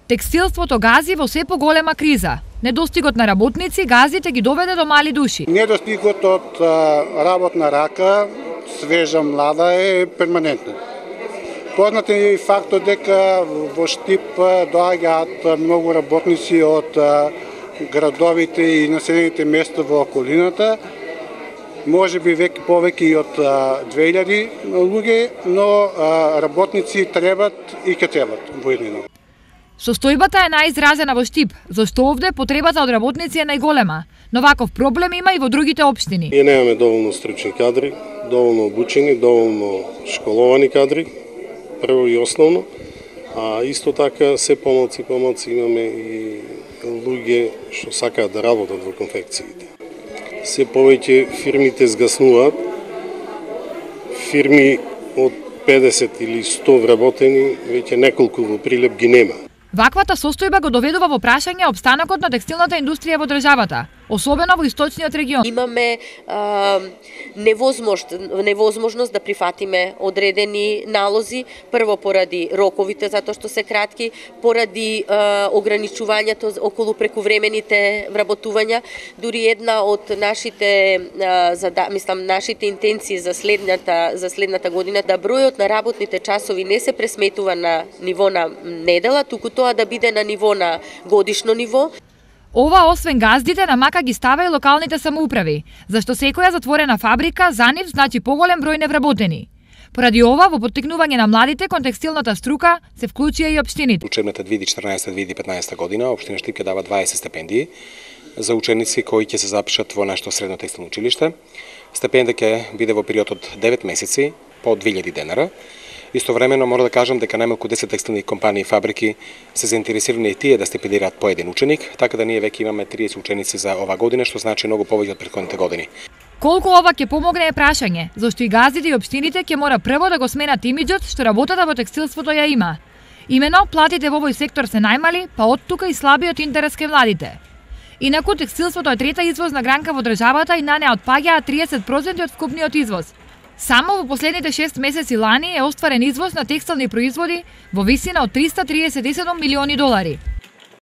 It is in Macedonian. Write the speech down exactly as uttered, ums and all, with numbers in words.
Текстилството гази во се поголема криза. Недостигот на работници газите ги доведе до мали души. Недостигот од работна рака, свежа млада е перманентна. Познат е и фактот дека во Штип доаѓаат многу работници од градовите и населените места во околината. Може би веќе повеќе и од две илјади луѓе, но работници требат и ќе требат во иднина. Состојбата е најизразена во Штип, зашто овде потребата од работници е најголема, но ваков проблем има и во другите општини. Ние немаме доволно стручни кадри, доволно обучени, доволно школовани кадри, прво и основно, а исто така се помалци помалци имаме и луѓе што сакаат да работат во конфекциите. Се повеќе фирмите згаснуваат, фирми од педесет или сто вработени, веќе неколку во прилеп ги нема. Ваквата состојба го доведува во прашање опстанокот на текстилната индустрија во државата, особено во источниот регион. Имаме а, невозможност, невозможност да прифатиме одредени налози, прво поради роковите затоа што се кратки, поради а, ограничувањето околу прекувремените вработувања, дури една од нашите а, зада, мислам нашите интенции за следната за следната година да бројот на работните часови не се пресметува на ниво на недела, туку тоа да биде на ниво на годишно ниво. Ова освен газдите на мака ги става и локалните самоуправи, зашто секоја затворена фабрика за нив значи поголем број невработени. Поради ова, во поттикнување на младите кон текстилната струка се вклучија и општините. Учебната две илјади и четрнаесета - две илјади и петнаесета година општина Штип ќе дава дваесет стипендии за ученици кои ќе се запишат во нашето средно текстилно училиште. Стипендија ќе биде во период од девет месеци по две илјади денара. Истовремено мора да кажам дека најмалку десет текстилни компании и фабрики се заинтересирани и тие да стипендираат по еден ученик, така да ние веќе имаме триесет ученици за ова година, што значи многу повеќе од претходните години. Колку ова ќе помогне е прашање, зашто и газдите и општините ќе мора прво да го сменат имиџот што работата во текстилството ја има. Имено, платите во овој сектор се најмали, па од тука и слабиот интерес кај младите. Инаку текстилството е трета извозна гранка во државата и на неа отпаѓаат триесет проценти од вкупниот извоз. Само во последните шест месеци лани е остварен извоз на текстилни производи во висина од триста триесет и седум милиони долари.